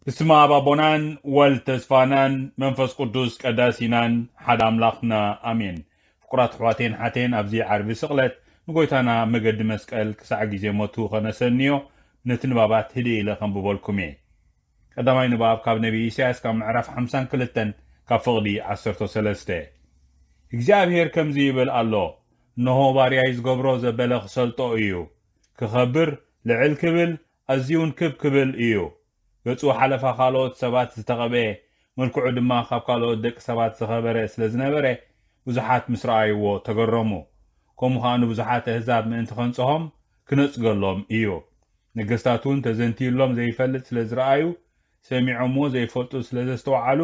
ብስመ ኣብ ኣቦናን ወልድ ተስፋናን መንፈስ ቅዱስ ቀዳሲናን ሓደ ኣምላኽና ኣሜን። ፍቁራት ኣሕዋቴን ሓቴን፣ ኣብዚ ዓርቢ ስቕለት ንጎይታና መገዲ መስቀል ክሳዕ ግዜ ሞቱ ከነሰንዮ ነቲ ንባባት ህድእ ኢለ ከንብበልኩም እየ። ቀዳማይ ንባብ ካብ ነቢይ ኢሳያስ ካብ ምዕራፍ ሓምሳን ክልተን ካብ ፍቕዲ ዓሰርተ ሰለስተ። እግዚኣብሔር ከምዚ ይብል ኣሎ፣ እንሆ ባርያይ ዝገብሮ ዘበለ ክሰልጦ እዩ። ክኸብር ልዕል ክብል ኣዝዩ እውን ክብ ክብል እዩ። ገጹ ሓለፋ ካልኦት ሰባት ዝተቐብኤ፣ መልክዑ ድማ ካብ ካልኦት ደቂ ሰባት ዝኸበረ ስለ ዝነበረ፣ ብዙሓት ምስ ረኣይዎ ተገረሙ። ከምኡ ኸኣ ንብዙሓት ኣህዛብ ምእንቲ ኸንጽሆም ክነጽገሎም እዩ። ነገስታት እውን ተዘንትዩሎም ዘይፈልጥ ስለ ዝረኣዩ፣ ሰሚዖምዎ ዘይፈልጡ ስለ ዘስተውዓሉ፣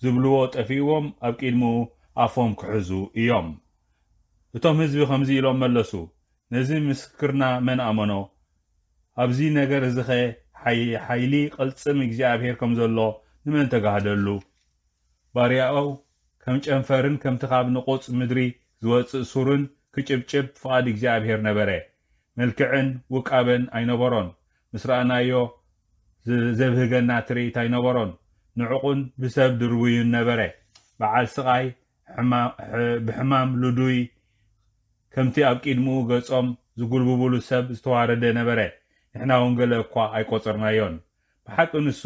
ዝብልዎ ጠፊእዎም ኣብ ቅድሚኡ ኣፎም ክሕዙ እዮም። እቶም ህዝቢ ከምዚ ኢሎም መለሱ፣ ነዚ ምስክርና መን ኣመኖ? ኣብዚ ነገር እዚኸ ሓይ-፣ ሓይሊ ቅልጽም እግዚኣብሔር ከም ዘሎ ንመን ተጋህደሉ? ባርያኡ ከም ጨንፈርን ከምቲ ካብ ንቑጽ ምድሪ ዝወጽእ ሱርን ክጭብጭብ ፍቓድ እግዚኣብሔር ነበረ። መልክዕን ውቃበን ኣይነበሮን። ምስ ረኣናዮ ዝ-፣ ዘብህገና ትርኢት ኣይነበሮን። ንዕቑን ብሰብ ድርቡይን ነበረ። በዓል ስቓይ ሕማ-፣ ሕ-፣ ብሕማም ልዱይ ከምቲ ኣብ ቅድሚኡ ገጾም ዝጉልብብሉ ሰብ ዝተዋረደ ነበረ። ንሕና እውን ገለ እኳ ኣይቆጸርናዮን። ብሓቂ ንሱ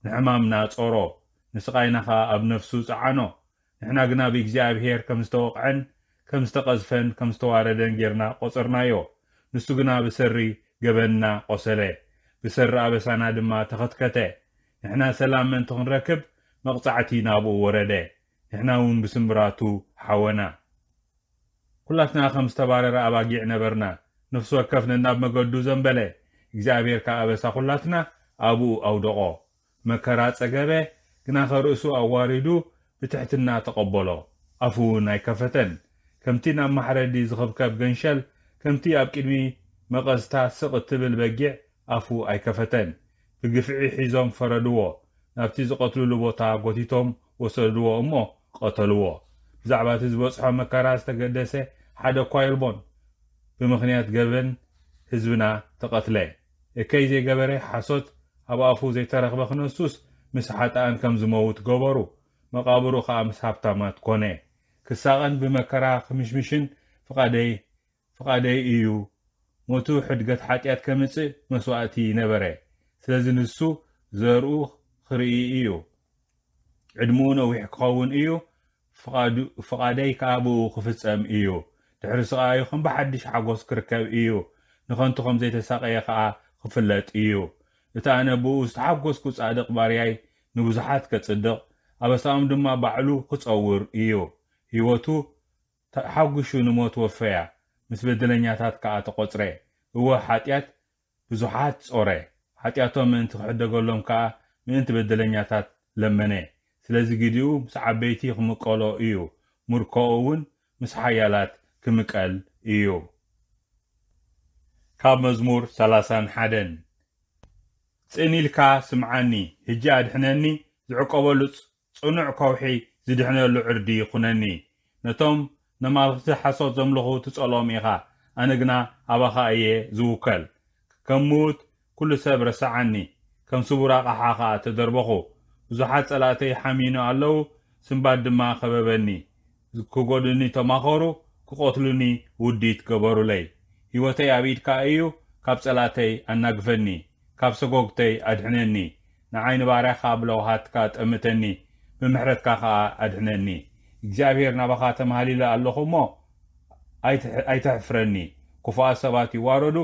ንሕማምና ጾሮ፣ ንስቓይና ኸኣ ኣብ ነፍሱ ጸዓኖ። ንሕና ግና ብእግዚኣብሔር ከም ዝተወቕዐን ከም ዝተቐዝፈን ከም ዝተዋረደን ጌርና ቆጸርናዮ። ንሱ ግና ብሰሪ ገበንና ቆሰለ፣ ብሰሪ ኣበሳና ድማ ተኸትከተ። ንሕና ሰላም ምእንቲ ክንረክብ መቕጻዕቲ ናብኡ ወረደ፣ ንሕና እውን ብስምብራቱ ሓወና። ኩላትና ከም ዝተባረረ ኣባጊዕ ነበርና፣ ነፍሲ ወከፍ ነናብ መገዱ ዘንበለ። እግዚኣብሔር ከኣ ኣበሳ ኩላትና ኣብኡ ኣውደቖ። መከራ ጸገበ፣ ግናኸ ርእሱ ኣዋሪዱ ብትሕትና ተቐበሎ። ኣፉ እውን ኣይከፈተን። ከምቲ ናብ ማሕረዲ ዝኽብከብ ገንሸል፣ ከምቲ ኣብ ቅድሚ መቐዝታ ስቕ እትብል በጊዕ ኣፉ ኣይከፈተን። ብግፍዒ ሒዞም ፈረድዎ። ናብቲ ዝቐትልሉ ቦታ ጎቲቶም ወሰድዎ እሞ ቀተልዎ። ብዛዕባ እቲ ዝበጽሖ መከራ ዝተገደሰ ሓደ እኳ የልቦን። ብምኽንያት ገበን ህዝብና ተቐትለ። እከይ ዘይገበረ ሓሶት ኣብ ኣፉ ዘይተረኽበ ክነሱስ ምስ ሓጥኣን ከም ዝመውት ገበሩ። መቓብሩ ኸኣ ምስ ሃብታማት ኮነ። ክሳቐን ብመከራ ክምሽምሽን ፍቓደይ ፍቓደይ እዩ። ሞቱ ሕድገት ሓጢኣት ከምጽእ መስዋእቲ ነበረ። ስለዚ ንሱ ዘርኡ ክርኢ እዩ። ዕድመኡ ነዊሕ ክኸውን እዩ። ፍቓዱ-፣ ፍቓደይ ከኣ ብኡ ክፍጸም እዩ። ድሕሪ ስቓዩ ከም ብሓድሽ ሓጎስ ክርከብ እዩ። ንኸንቱ ከም ዘይተሳቐየ ከኣ ክፍለጥ እዩ። እቲ ኣነ ብኡ ዝተሓጎስኩ ጻድቕ ባርያይ ንብዙሓት ከጽድቕ፣ ኣበሳኦም ድማ ባዕሉ ክጸውር እዩ። ህይወቱ ተሓጒሱ ንሞት ወፈያ፣ ምስ በደለኛታት ከኣ ተቖጽረ። እወ፣ ሓጢኣት ብዙሓት ጾረ፣ ሓጢኣቶም ምእንቲ ክሕደገሎም ከኣ ምእንቲ በደለኛታት ለመነ። ስለዚ ግዲኡ ምስ ዓበይቲ ክምቀሎ እዩ፣ ምርኮኡ እውን ምስ ሓያላት ክምቀል እዩ። ካብ መዝሙር ሰላሳን ሓደን። ጽን ኢልካ ስምዓኒ፣ ሕጂ ኣድሕነኒ፣ ዝዕቆበሉ ጽ-፣ ጽኑዕ ከውሒ ዝድሕነሉ ዕርዲ ኩነኒ። ነቶም ነማልኽቲ ሓሶት ዘምልኹ ትጸልኦም ኢኻ፣ ኣነ ግና ኣባኻ እየ ዝውከል። ከም ምዉት ኩሉ ሰብ ረስዓኒ፣ ከም ስቡር ኣቕሓ ኸኣ ተደርበኹ። ብዙሓት ጸላእተይ ሓሚኑ ኣለዉ፣ ስንባድ ድማ ከበበኒ። ክጎድኡኒ ተማኸሩ፣ ክቐትሉኒ ውዲት ገበሩለይ። ህይወተይ ኣብ ኢድካ እዩ፣ ካብ ጸላእተይ ኣናግፈኒ፣ ካብ ሰጎግተይ ኣድሕነኒ። ንዓይ ንባርያኻ ብለውሃትካ ጠምተኒ፣ ብምሕረትካ ኸኣ ኣድሕነኒ። እግዚኣብሔር ናባኻ ተማህሊለ ኣለኹ እሞ ኣይትሕ-፣ ኣይተሕፍረኒ። ክፉኣት ሰባት ይዋረዱ፣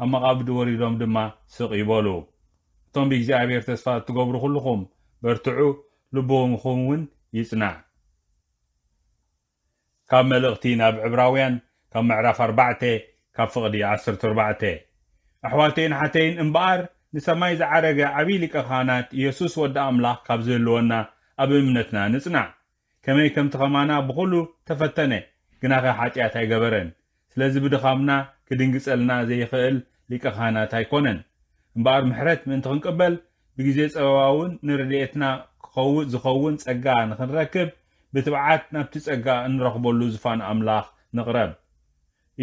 ኣብ መቓብድ ወሪዶም ድማ ስቕ ይበሉ። እቶም ብእግዚኣብሔር ተስፋ እትገብሩ ኩልኹም በርትዑ፣ ልብኹም እውን ይጽናዕ። ካብ መልእኽቲ ናብ ዕብራውያን ካብ ምዕራፍ ኣርባዕተ ካብ ፍቕዲ ዓሰርተ ኣርባዕተ። ኣሕዋተይን ሓተይን እምበኣር ንሰማይ ዝዓረገ ዓብዪ ሊቀ ካህናት ኢየሱስ ወዲ ኣምላኽ ካብ ዝህልወና ኣብ እምነትና ንጽናዕ። ከመይ ከምቲ ኸማና ብኹሉ ተፈተነ፣ ግናኸ ሓጢኣት ኣይገበረን። ስለዚ ብድኻምና ክድንግጸልና ዘይኽእል ሊቀ ካህናት ኣይኮነን። እምበኣር ምሕረት ምእንቲ ክንቅበል፣ ብግዜ ጸበባ እውን ንረድኤትና ክኸው-፣ ዝኸውን ጸጋ ንኽንረክብ፣ ብትብዓት ናብቲ ጸጋ እንረኽበሉ ዝፋን ኣምላኽ ንቕረብ።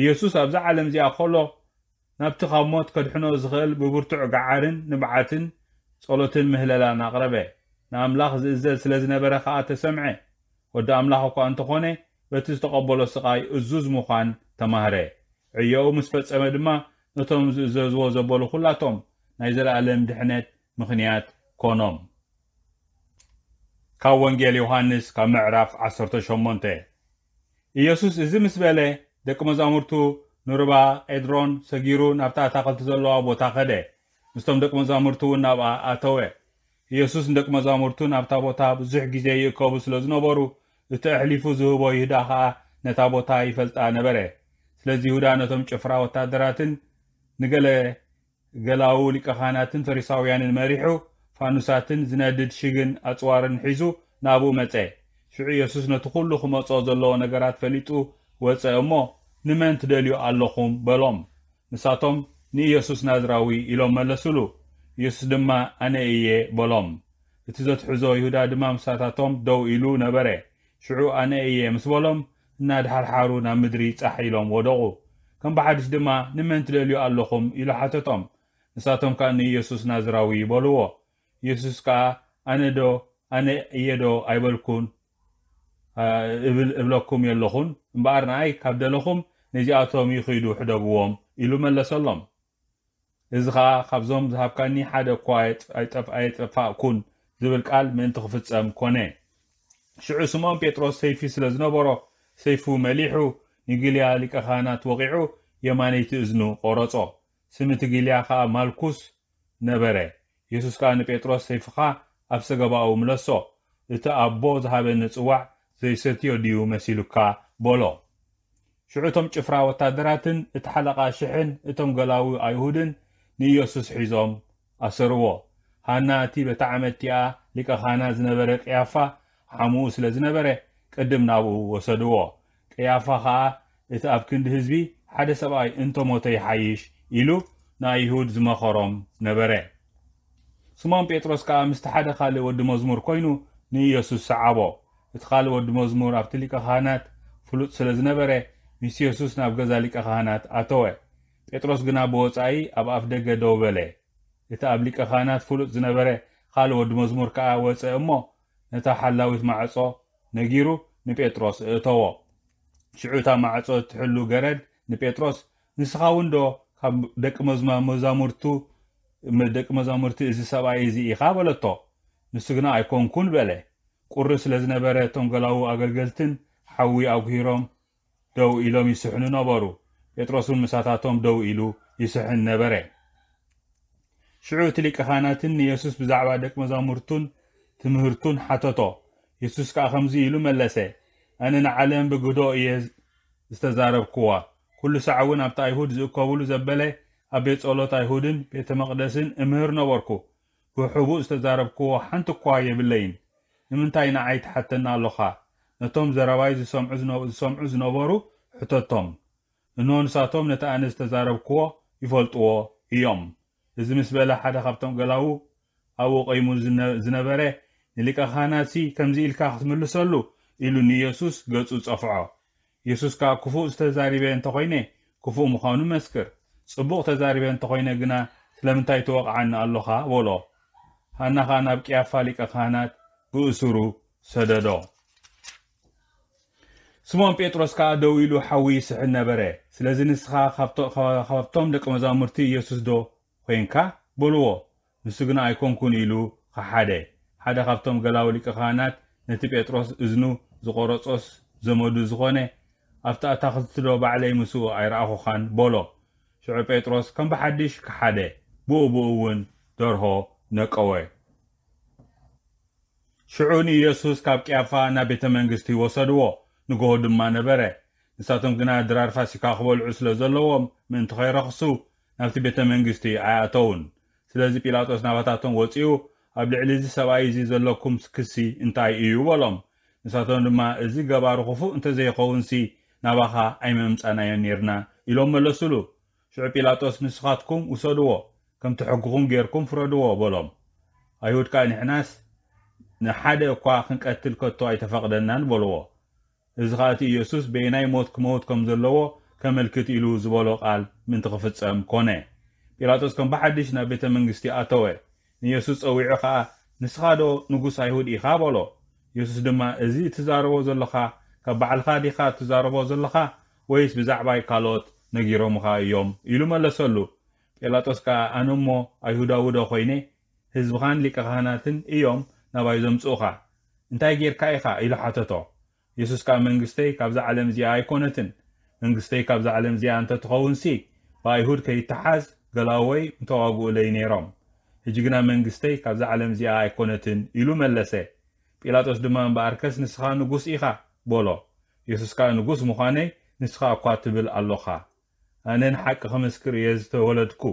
ኢየሱስ ኣብዛ ዓለም እዚኣ ኸሎ፣ ናብቲ ካብ ሞት ከድሕኖ ዝኽእል ብብርቱዕ ገዓርን ንብዓትን ጸሎትን ምህለላን ኣቕረበ። ንኣምላኽ ዝእዘዝ ስለ ዝነበረ ከኣ ተሰምዐ። ወዲ ኣምላኽ እኳ እንተኾነ፣ በቲ ዝተቐበሎ ስቓይ እዙዝ ምዃን ተማህረ። ዕዮኡ ምስ ፈጸመ ድማ፣ ነቶም ዝእዘዝዎ ዘበሉ ኹላቶም ናይ ዘለኣለም ድሕነት ምኽንያት ኮኖም። ካብ ወንጌል ዮሃንስ ካብ ምዕራፍ ዓሰርተ ሸሞንተ። ኢየሱስ እዚ ምስ በለ፣ ደቂ መዛሙርቱ ንሩባ ቄድሮን ሰጊሩ ናብታ ኣታኽልቲ ዘለዋ ቦታ ኸደ። ምስቶም ደቂ መዛሙርቱ እውን ናብኣ ኣተወ። ኢየሱስ ንደቂ መዛሙርቱ ናብታ ቦታ ብዙሕ ግዜ ይእከቡ ስለ ዝነበሩ፣ እቲ ኣሕሊፉ ዝህቦ ይሁዳ ኸኣ ነታ ቦታ ይፈልጣ ነበረ። ስለዚ ይሁዳ ነቶም ጭፍራ ወታደራትን ንገለ ገላዉ ሊቀ ካህናትን ፈሪሳውያንን መሪሑ፣ ፋኑሳትን ዝነድድ ሽግን ኣጽዋርን ሒዙ ናብኡ መጸ። ሽዑ ኢየሱስ ነቲ ኹሉ ክመጾ ዘለዎ ነገራት ፈሊጡ ወጸ እሞ፣ "ንመን ትደልዩ ኣለኹም?" በሎም። ንሳቶም፣ "ንኢየሱስ ናዝራዊ" ኢሎም መለሱሉ። ኢየሱስ ድማ፣ "ኣነ እየ" በሎም። እቲ ዘትሕዞ ይሁዳ ድማ ምሳታቶም ደው ኢሉ ነበረ። ሽዑ "ኣነ እየ" ምስ በሎም፣ እናድሓርሓሩ ናብ ምድሪ ጻሕ ኢሎም ወደቑ። ከም ብሓድሽ ድማ፣ "ንመን ትደልዩ ኣለኹም?" ኢሉ ሓተቶም። ንሳቶም ከኣ፣ "ንኢየሱስ ናዝራዊ" በልዎ። ኢየሱስ ከኣ፣ "ኣነ ዶ፣ ኣነ እየ ዶ ኣይበልኩን፣ ኣ፣ እብል፣ እብለኩም የለኹን? እምበኣር ንኣይ ካብ ደለኹም፣ ነዚኣቶም ይኺዱ ሕደግዎም" ኢሉ መለሰሎም። "እዚ ኸኣ ካብዞም ዝሃብካኒ ሓደ እኳ ኣይጠፍ-፣ ኣይጠፋእኩን" ዝብል ቃል ምእንቲ ክፍጸም ኮነ። ሽዑ ስምዖን ጴጥሮስ ሰይፊ ስለ ዝነበሮ፣ ሰይፉ መሊሑ ንጊልያ ሊቀ ካህናት ወቒዑ፣ የማነይቲ እዝኑ ቖረጾ። ስም እቲ ጊልያ ኸኣ ማልኩስ ነበረ። የሱስ ከኣ ንጴጥሮስ፣ "ሰይፍኻ ኣብ ሰገባኡ ምለሶ፣ እቲ ኣቦ ዝሃበኒ ጽዋዕ ዘይሰትዮ ድዩ መሲሉካ?" በሎ። ሽዑ እቶም ጭፍራ ወታደራትን እቲ ሓለቓ ሽሕን እቶም ገላዉ ኣይሁድን ንኢየሱስ ሒዞም ኣሰርዎ። ሃና እቲ በታ ዓመት እቲኣ ሊቀ ካህናት ዝነበረ ቀያፋ ሓሙኡ ስለ ዝነበረ፣ ቅድም ናብኡ ወሰድዎ። ቀያፋ ኸኣ፣ "እቲ ኣብ ክንዲ ህዝቢ ሓደ ሰብኣይ እንተ ሞተ ይሓይሽ" ኢሉ ንኣይሁድ ዝመኸሮም ነበረ። ስምዖን ጴጥሮስ ከኣ ምስቲ ሓደ ካልእ ወዲ መዝሙር ኮይኑ ንኢየሱስ ሰዓቦ። እቲ ካልእ ወዲ መዝሙር ኣብቲ ሊቀ ካህናት ፍሉጥ ስለ ዝነበረ፣ ምስ የሱስ ናብ ገዛ ሊቀ ካህናት ኣተወ። ጴጥሮስ ግና ብወጻኢ ኣብ ኣፍ ደገ ደው በለ። እቲ ኣብ ሊቀ ካህናት ፍሉጥ ዝነበረ ካልእ ወዲ መዝሙር ከኣ ወጸ እሞ፣ ነታ ሓላዊት ማዕጾ ነጊሩ ንጴጥሮስ እእተዎ። ሽዑ እታ ማዕጾ እትሕሉ ገረድ ንጴጥሮስ፣ "ንስኻ እውን ዶ ካብ ደቂ መዝማ-፣ መዛሙርቱ፣ ደቂ መዛሙርቲ እዚ ሰብኣይ እዚ ኢኻ?" በለቶ። ንሱ ግና፣ "ኣይኮንኩን" በለ። ቁሪ ስለ ዝነበረ፣ እቶም ገላዉ ኣገልገልትን ሓዊ ኣጉሂሮም ደው ኢሎም ይስሕኑ ነበሩ። ጴጥሮስ እውን ምሳታቶም ደው ኢሉ ይስሕን ነበረ። ሽዑ እቲ ሊቀ ካህናትን ንየሱስ ብዛዕባ ደቂ መዛሙርቱን ትምህርቱን ሓተቶ። የሱስ ከኣ ከምዚ ኢሉ መለሰ፣ "ኣነ ንዓለም ብግህዶ እየ ዝተዛረብክዋ። ኩሉ ሳዕ እውን ኣብቲ ኣይሁድ ዝእከብሉ ዘበለ ኣብ ቤት ጸሎት ኣይሁድን ቤተ መቕደስን እምህር ነበርኩ። ብሕቡእ ዝተዛረብክዎ ሓንቲ እኳ የብለይን። ንምንታይ ንዓይ ትሓተኒ ኣሎኻ? ነቶም ዘረባይ ዝሰምዑ ዝነ-፣ ዝሰምዑ ዝነበሩ ሕተቶም። እንሆ ንሳቶም ነቲ ኣነ ዝተዛረብክዎ ይፈልጥዎ እዮም።" እዚ ምስ በለ ሓደ ካብቶም ገላዉ ኣብኡ ቆይሙ ዝነ-፣ ዝነበረ፣ "ንሊቀ ካህናትሲ ከምዚ ኢልካ ክትምልሰሉ?" ኢሉ ንየሱስ ገጹ ጸፍዖ። የሱስ ከኣ፣ "ክፉእ ዝተዛሪበ እንተኾይነ ክፉእ ምዃኑ መስክር፣ ጽቡቕ ተዛሪበ እንተኾይነ ግና ስለምንታይ ትወቕዓኒ ኣሎኻ?" በሎ። ሃና ኸኣ ናብ ቅያፋ ሊቀ ካህናት ብእሱሩ ሰደዶ። ስምዖን ጴጥሮስ ከኣ ደው ኢሉ ሓዊ ይስሕን ነበረ። ስለዚ፣ "ንስኻ ካብቶ-፣ ካብቶም ደቂ መዛሙርቲ የሱስ ዶ ኾይንካ?" በልዎ። ንሱ ግና፣ "ኣይኮንኩን" ኢሉ ኸሓደ። ሓደ ካብቶም ገላዊ ሊቀ ካህናት፣ "ነቲ ጴጥሮስ እዝኑ ዝቖረጾስ ዘመዱ ዝኾነ፣ ኣብቲ ኣታኽልቲ ዶ ባዕለይ ምስኡ ኣይረኣኹኻን?" በሎ። ሽዑ ጴጥሮስ ከም ብሓድሽ ከሓደ፣ ብኡ ብኡ እውን ደርሆ ነቀወ። ሽዑ ንኢየሱስ ካብ ቅያፋ ናብ ቤተ መንግስቲ ወሰድዎ። ንግሆ ድማ ነበረ። ንሳቶም ግና ድራር ፋሲካ ክበልዑ ስለ ዘለዎም፣ ምእንቲ ኸይረኽሱ ናብቲ ቤተ መንግስቲ ኣይኣተዉን። ስለዚ ጲላጦስ ናባታቶም ወጺኡ፣ "ኣብ ልዕሊ እዚ ሰብኣይ እዚ ዘለኩም ክሲ እንታይ እዩ?" በሎም። ንሳቶም ድማ፣ "እዚ ገባሩ ክፉእ እንተ ዘይኸውንሲ፣ ናባኻ ኣይመምጻናዮን ኔርና" ኢሎም መለሱሉ። ሽዑ ጲላጦስ፣ "ንስኻትኩም ውሰድዎ፣ ከምቲ ሕግኹም ጌርኩም ፍረድዎ" በሎም። ኣይሁድ ከኣ፣ "ንሕናስ ንሓደ እኳ ክንቀትል ከቶ ኣይተፈቕደናን" በልዎ። እዚ ኸኣ እቲ ኢየሱስ በየናይ ሞት ክመውት ከም ዘለዎ ከመልክት ኢሉ ዝበሎ ቃል ምእንቲ ክፍጸም ኮነ። ጲላጦስ ከም ብሓድሽ ናብ ቤተ መንግስቲ ኣተወ። ንየሱስ ጸዊዑ ኸኣ፣ "ንስኻ ዶ ንጉስ ኣይሁድ ኢኻ?" በሎ። የሱስ ድማ፣ "እዚ እትዛረቦ ዘለኻ ካብ ባዕልኻ ዲኻ እትዛረቦ ዘለኻ፣ ወይስ ብዛዕባይ ካልኦት ነጊሮምኻ እዮም?" ኢሉ መለሰሉ። ጲላጦስ ከኣ፣ "ኣነ እሞ ኣይሁዳዊ ዶ ኾይነ? ህዝብኻን ሊቀ ካህናትን እዮም ናባይ ዘምጽኡኻ። እንታይ ጌርካ ኢኻ?" ኢሉ ሓተቶ። የሱስ ከኣ፣ "መንግስተይ ካብዛ ዓለም እዚኣ ኣይኮነትን። መንግስተይ ካብዛ ዓለም እዚኣ እንተ ትኸውንሲ፣ ብኣይሁድ ከይተሓዝ ገላዎይ ምተዋግኡለይ ነይሮም። ሕጂ ግና መንግስተይ ካብዛ ዓለም እዚኣ ኣይኮነትን" ኢሉ መለሰ። ጲላጦስ ድማ፣ "እምበኣርከስ ንስኻ ንጉስ ኢኻ" በሎ። የሱስ ከኣ፣ "ንጉስ ምዃነይ ንስኻ እኳ ትብል ኣሎኻ። ኣነ ንሓቂ ክምስክር እየ ዝተወለድኩ፣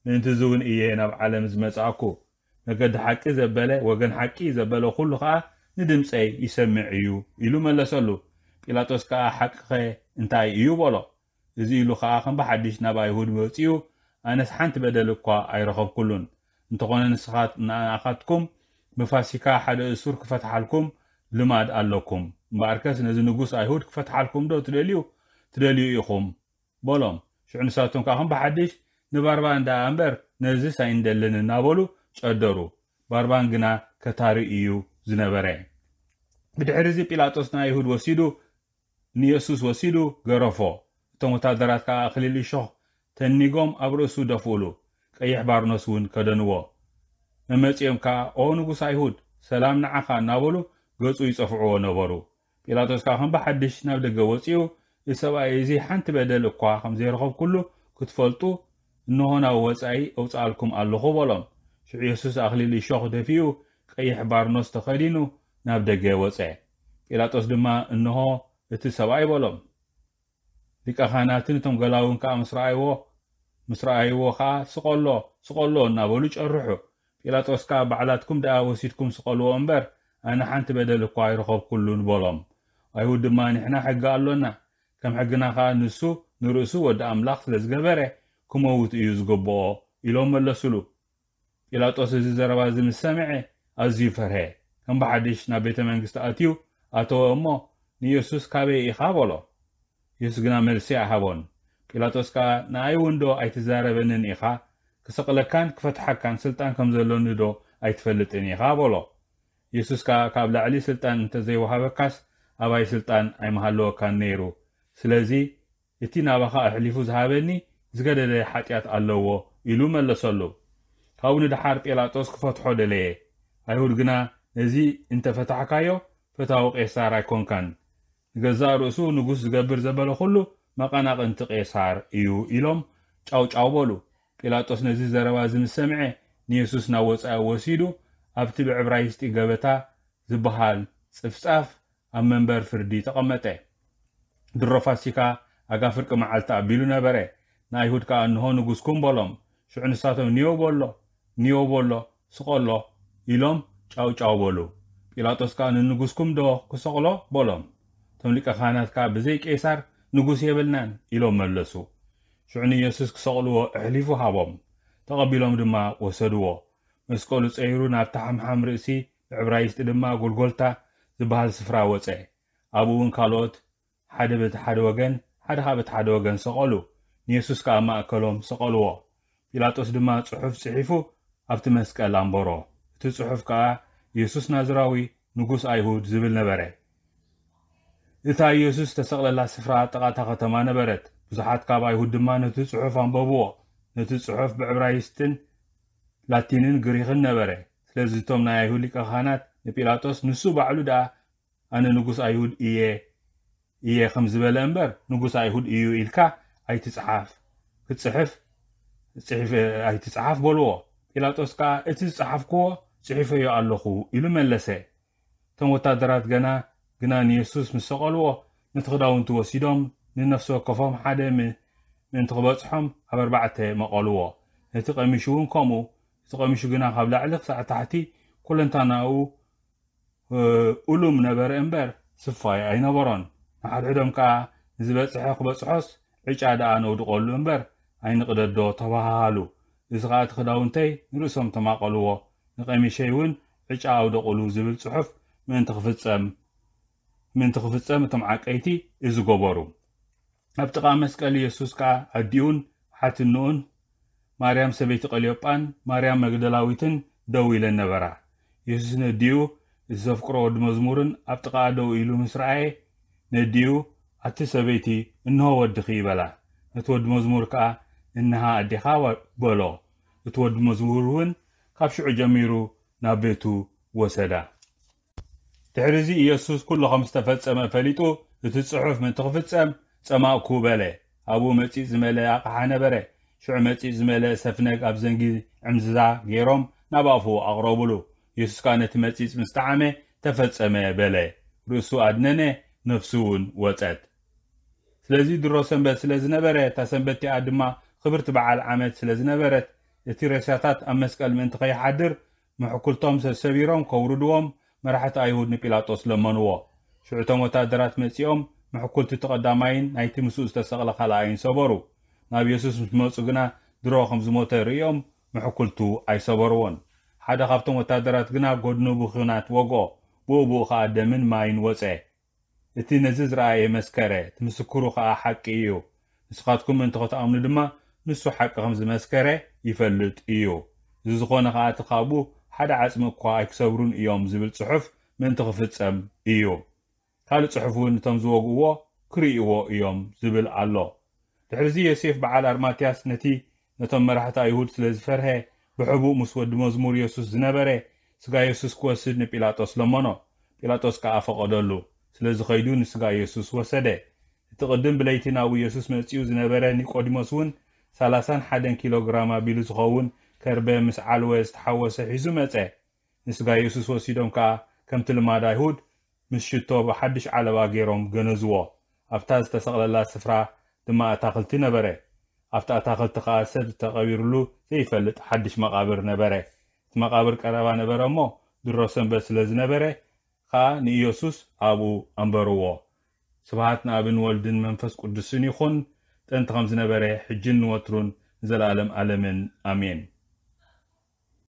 ምእንቲ እዚ እውን እየ ናብ ዓለም ዝመጻእኩ። መገዲ ሓቂ ዘበለ፣ ወገን ሓቂ ዘበለ ኩሉ ኸኣ ንድምጸይ ይሰምዕ እዩ" ኢሉ መለሰሉ። ጲላጦስ ከኣ፣ "ሓቅኸ እንታይ እዩ?" በሎ። እዚ ኢሉ ኸኣ ከም ብሓድሽ ናብ ኣይሁድ ወጺኡ፣ "ኣነስ ሓንቲ በደል እኳ ኣይረኸብኩሉን። እንተኾነ ንስኻት-፣ ንኣኻትኩም ብፋሲካ ሓደ እሱር ክፈትሓልኩም ልማድ ኣለኩም። እምበኣርከስ ነዚ ንጉስ ኣይሁድ ክፈትሓልኩም ዶ ትደልዩ? ትደልዩ ኢኹም" በሎም። ሽዑ ንሳቶም ከኣ ከም ብሓድሽ፣ "ንባርባን ደኣ እምበር ነዝስ ኣይንደልን" እናበሉ ጨደሩ። ባርባን ግና ከታሪ እዩ ዝነበረ። ብድሕሪ እዚ ጲላጦስ ንኣይሁድ ወሲዱ፣ ንየሱስ ወሲዱ ገረፎ። እቶም ወታደራት ከኣ ኣኽሊል እሾኽ ተኒጎም ኣብ ርእሱ ደፍኡሉ፣ ቀይሕ ባርኖስ እውን ከደንዎ። መመጺኦም ከኣ፣ "ኦ ንጉስ ኣይሁድ፣ ሰላም ንዓኻ" እናበሉ ገጹ ይጸፍዕዎ ነበሩ። ጲላጦስ ከኣ ከም ብሓድሽ ናብ ደገ ወጺኡ፣ "እዚ ሰብኣይ እዚ ሓንቲ በደል እኳ ከም ዘይረኸብኩሉ ክትፈልጡ፣ እንሆ ናብ ወጻኢ ኣውጽኣልኩም ኣለኹ" በሎም። ሽዑ የሱስ ኣኽሊል እሾኽ ደፊኡ፣ ቀይሕ ባርኖስ ተኸዲኑ ናብ ደገ ወጸ። ጲላጦስ ድማ፣ "እንሆ እቲ ሰብኣይ" በሎም። ሊቀ ካህናትን እቶም ገላውን ከኣ ምስ ረኣይዎ፣ ምስ ረኣይዎ ከኣ፣ "ስቐሎ፣ ስቐሎ" እናበሉ ጨርሑ። ጲላጦስ ከኣ፣ "ባዕላትኩም ደኣ ወሲድኩም ስቐልዎ እምበር፣ ኣነ ሓንቲ በደል እኳ ኣይረኸብኩሉን" በሎም። ኣይሁድ ድማ፣ "ንሕና ሕጊ ኣሎና፣ ከም ሕግና ከኣ ንሱ ንርእሱ ወዲ ኣምላኽ ስለ ዝገበረ፣ ክመውት እዩ ዝግብኦ" ኢሎም መለሱሉ። ጲላጦስ እዚ ዘረባ እዚ ምስ ሰምዐ፣ ኣዝዩ ፈርሀ። ከም ብሓድሽ ናብ ቤተ መንግስቲ ኣትዩ ኣተወ እሞ፣ "ንየሱስ ካበይ ኢኻ?" በሎ። የሱስ ግና መልሲ ኣይሃቦን። ጲላጦስ ከኣ፣ "ንኣይ እውን ዶ ኣይትዛረበንን ኢኻ? ክሰቕለካን ክፈትሓካን ስልጣን ከም ዘሎኒ ዶ ኣይትፈልጥን ኢኻ?" በሎ። የሱስ ከኣ፣ "ካብ ላዕሊ ስልጣን እንተ ዘይወሃበካስ፣ ኣባይ ስልጣን ኣይምሃለወካን ነይሩ። ስለዚ፣ እቲ ናባኻ ኣሕሊፉ ዝሃበኒ ዝገደደ ሓጢኣት ኣለዎ" ኢሉ መለሰሉ። ካብኡ ንደሓር ጲላጦስ ክፈትሖ ደለየ። ኣይሁድ ግና፣ "ነዚ እንተ ፈታሕካዮ፣ ፈታዊ ቄሳር ኣይኮንካን። ንገዛእ ርእሱ ንጉስ ዝገብር ዘበለ ኩሉ መቐናቕንቲ ቄሳር እዩ" ኢሎም ጫው ጫው በሉ። ጲላጦስ ነዚ ዘረባ እዚ ምስ ሰምዐ፣ ንየሱስ ናብ ወጻኢ ወሲዱ፣ ኣብቲ ብዕብራይስጢ ገበታ ዝበሃል ጽፍጻፍ ኣብ መንበር ፍርዲ ተቐመጠ። ድሮ ፋሲካ ኣጋ ፍርቂ መዓልቲ ኣቢሉ ነበረ። ንኣይሁድ ከኣ፣ "እንሆ ንጉስኩም" በሎም። ሽዑ ንሳቶም፣ "ንዮ በሎ፣ ንዮ በሎ፣ ስቐሎ" ኢሎም ጫው ጫው በሉ። ጲላጦስ ከኣ፣ "ንንጉስኩም ዶ ክሰቕሎ?" በሎም። እቶም ሊቀ ካህናት ከኣ፣ "ብዘይ ቄሳር ንጉስ የብልናን" ኢሎም መለሱ። ሽዑ ንየሱስ ክሰቕልዎ ኣሕሊፉ ሃቦም። ተቐቢሎም ድማ ወሰድዎ። መስቀሉ ጸይሩ ናብቲ ሓምሓም ርእሲ፣ ብዕብራይስጢ ድማ ጎልጎልታ ዝበሃል ስፍራ ወጸ። ኣብኡ እውን ካልኦት ሓደ በቲ ሓደ ወገን፣ ሓደ ኸኣ በቲ ሓደ ወገን ሰቐሉ። ንየሱስ ከኣ ኣብ ማእከሎም ሰቐልዎ። ጲላጦስ ድማ ጽሑፍ ጽሒፉ ኣብቲ መስቀል ኣንበሮ። እቲ ጽሑፍ ከኣ፣ "የሱስ ናዝራዊ፣ ንጉስ ኣይሁድ" ዝብል ነበረ። እታ የሱስ ዝተሰቕለላ ስፍራ ኣብ ጥቓ እታ ከተማ ነበረት። ብዙሓት ካብ ኣይሁድ ድማ ነቲ ጽሑፍ ኣንበብዎ። ነቲ ጽሑፍ ብዕብራይስጥን ላቲንን ግሪኽን ነበረ። ስለዚ እቶም ናይ ኣይሁድ ሊቀ ካህናት ንጲላጦስ፣ "ንሱ ባዕሉ ደኣ ኣነ ንጉስ ኣይሁድ እየ፣ እየ ከም ዝበለ እምበር፣ ንጉስ ኣይሁድ እዩ ኢልካ ኣይትጽሓፍ፣ ክትጽሕፍ ጽሒፍ ኣይትጽሓፍ" በልዎ። ጲላጦስ ከኣ፣ "እቲ ዝጸሓፍክዎ ጽሒፈዮ ኣለኹ" ኢሉ መለሰ። እቶም ወታደራት ገና ግና ንየሱስ ምስ ሰቐልዎ፣ ነቲ ክዳውንቱ ወሲዶም፣ ንነፍሲ ወከፎም ሓደ ም-፣ ምእንቲ ክበጽሖም ኣብ ኣርባዕተ መቐልዎ። ነቲ ቀሚሹ እውን ከምኡ። እቲ ቀሚሹ ግና ካብ ላዕሊ ክሳዕ ታሕቲ ኩለንታናኡ፣ እ፣ ኡሉም ነበረ እምበር፣ ስፋይ ኣይነበሮን። ንሓድሕዶም ከኣ፣ "ንዝበጽሐ ክበጽሖስ፣ ዕጫ ደኣ ነውድቐሉ እምበር፣ ኣይንቕደዶ" ተባሃሃሉ። እዚ ኸኣ፣ "እቲ ክዳውንተይ ንርእሶም ተማቐልዎ፣ ንቐሚሸይ እውን ዕጫ ኣውደቑሉ" ዝብል ጽሑፍ ምእንቲ ክፍጸም፣ ምእንቲ ክፍጸም እቶም ዓቀይቲ እዚ ገበሩ። ኣብ ጥቓ መስቀል የሱስ ከኣ ኣዲኡን ሓትንኡን፣ ማርያም ሰበይቲ ቀልዮጳን ማርያም መግደላዊትን ደው ኢለን ነበራ። የሱስ ነዲኡ፣ እቲ ዘፍቅሮ ወዲ መዝሙርን ኣብ ጥቓኣ ደው ኢሉ ምስ ረኣየ፣ ነዲኡ፣ ኣቲ ሰበይቲ፣ እንሆ ወድኺ፣ በላ። ነቲ ወዲ መዝሙር ከኣ፣ እንሃ ኣዴኻ፣ በሎ። እቲ ወዲ መዝሙር እውን ካብ ሽዑ ጀሚሩ ናብ ቤቱ ወሰዳ። ድሕሪ እዚ ኢየሱስ ኩሉ ከም ዝተፈጸመ ፈሊጡ፣ እቲ ጽሑፍ ምእንቲ ክፍጸም፣ ጸማእኩ በለ። ኣብኡ መጺጽ ዝመልአ ኣቕሓ ነበረ። ሽዑ መጺጽ ዝመልአ ሰፍነግ ኣብ ዘንጊ ዕምዝዛ ገይሮም ናብ ኣፉ ኣቕረቡሉ። ኢየሱስ ከኣ ነቲ መጺጽ ምስ ጠዓመ፣ ተፈጸመ በለ። ርእሱ ኣድነነ፣ ነፍሱ እውን ወጸት። ስለዚ ድሮ ሰንበት ስለ ዝነበረ፣ እታ ሰንበት እቲኣ ድማ ክብርቲ በዓል ዓመት ስለ ዝነበረት፣ እቲ ሬሳታት ኣብ መስቀል ምእንቲ ከይሓድር፣ ምሕኩልቶም ሰሰቢሮም ከውርድዎም መራሕቲ ኣይሁድ ንጲላጦስ ለመንዎ። ሽዑ እቶም ወታደራት መጺኦም፣ ምሕኩልቲ እቲ ቀዳማይን ናይቲ ምስኡ ዝተሰቕለ ካልኣይን ሰበሩ። ናብ የሱስ ምስ መጹ ግና፣ ድሮ ከም ዝሞተ ርእዮም፣ ምሕኩልቱ ኣይሰበርዎን። ሓደ ካብቶም ወታደራት ግና ጎድኑ ብኲናት ወግኦ፣ ብኡ ብኡ ኸኣ ደምን ማይን ወጸ። እቲ ነዚ ዝረኣየ መስከረ፣ እቲ ምስክሩ ኸኣ ሓቂ እዩ። ንስኻትኩም ምእንቲ ኽትኣምኑ ድማ፣ ንሱ ሓቂ ኸም ዝመስከረ ይፈልጥ እዩ። እዚ ዝኾነ ኸኣ፣ እቲ ካብኡ ሓደ ዓጽሚ እኳ ኣይክሰብሩን እዮም ዝብል ጽሑፍ ምእንቲ ኽፍጸም እዩ። ካልእ ጽሑፍ እውን፣ እቶም ዝወግእዎ ክርእይዎ እዮም ዝብል ኣሎ። ድሕርዚ ዮሴፍ በዓል ኣርማትያስ ነቲ ነቶም መራሕቲ ኣይሁድ ስለ ዝፈርሀ፣ ብሕቡእ ምስ ወዲ መዝሙር የሱስ ዝነበረ ስጋ የሱስ ክወስድ ንጲላጦስ ለመኖ። ጲላጦስ ከኣ ፈቐደሉ። ስለዚ ኸይዱ ንስጋ የሱስ ወሰደ። እቲ ቅድም ብለይቲ ናብኡ የሱስ መጺኡ ዝነበረ ኒቆዲሞስ እውን ሰላሳን ሓደን ኪሎ ግራም ኣቢሉ ዝኸውን ከርበ ምስ ዓልወ ዝተሓወሰ ሒዙ መጸ። ንስጋ የሱስ ወሲዶም ከኣ ከምቲ ልማድ ኣይሁድ ምስ ሽቶ ብሓድሽ ዓለባ ገይሮም ገነዝዎ። ኣብታ ዝተሰቕለላ ስፍራ ድማ ኣታኽልቲ ነበረ። ኣብቲ ኣታኽልቲ ኸኣ ሰብ ዝተቐቢርሉ ዘይፈልጥ ሓድሽ መቓብር ነበረ። እቲ መቓብር ቀረባ ነበረ እሞ፣ ድሮ ሰንበት ስለ ዝነበረ ኸኣ ንኢየሱስ ኣብኡ ኣንበርዎ። ስብሃት ንኣብን ወልድን መንፈስ ቅዱስን ይኹን፣ ጥንቲ ከም ዝነበረ፣ ሕጅን ንወትሩን ንዘለኣለም ኣለምን። ኣሜን።